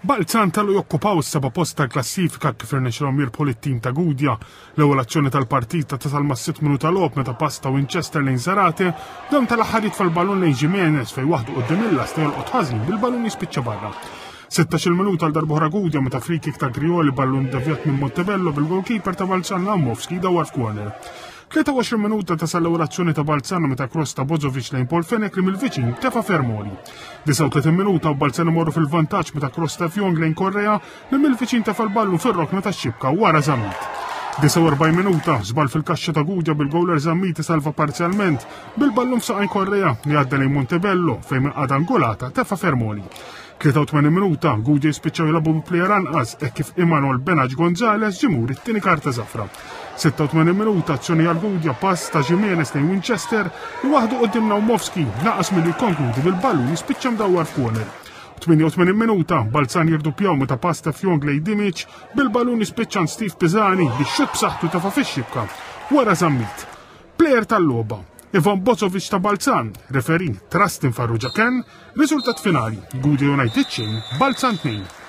Balzan telgħu jokkupaw is-seba' post tal-klassifika kif irnexxilhom jirbħu lit-tim ta' Gudja. L-ewwel azzjoni tal-partita tasal mas-sitt minuta logħob meta pass ta' Winchester lejn Zarate, dan tal-aħħar jitfa' l-ballun lejn Jimenez fejn waħdu quddiem il-lasta jolqot ħażin bil-ballun jispiċċa barra. 16-il minuta għal darb'oħra Gudja meta free kick ta' Grioli ballun devjat minn Montebello bil-goalkeeper ta' Balzan Lamovski dawar f'corner. 23 minuta tasal l-ewwel azzjoni ta' Balzano meta cross ta' Bozovic lejn Paul Fenech li mill-viċin tefa' Fermoli. 39 minuta u Balzano morru fil-vantaġġ meta cross ta' Fjong lejn Correa li mill-viċin tefa' l-ballu fir-rokna tax-xibka wara Zammit. 49 minuta, żball fil-kaxxa ta' Gudja bil-gowler Zammit salva parzjalment bil-ballun f'saqajn Correa li għadda lejn Montebello fejn minn qagħda angolata tefa' Fermoli. 83 minuta, Gudja jispiċċaw jilagħbu bi plejer anqas hekk kif Imanol Benaġ Gonzalez ġimur it-tieni karta żafra. 86 minuta, azzjoni għal Gudja pass ta' Jimenez lejn Winchester li waħdu quddiem Naumovski naqas milli jikkonkludi bil-ballun jispiċċa mdawwar f'corner. 88 minuta, Balzan jirduppjaw meta pass ta' Fjong lejn Dimic bil-ballun jispiċċa Steve Pisani biex xut b'saħħtu tafa' fix-xibka wara Zammit. Plejer tal-logħba, Ivan Bozovic ta' Balzan, referee Trustin Farrugia Ken, riżultat finali, Gudja United xejn, Balzan 2.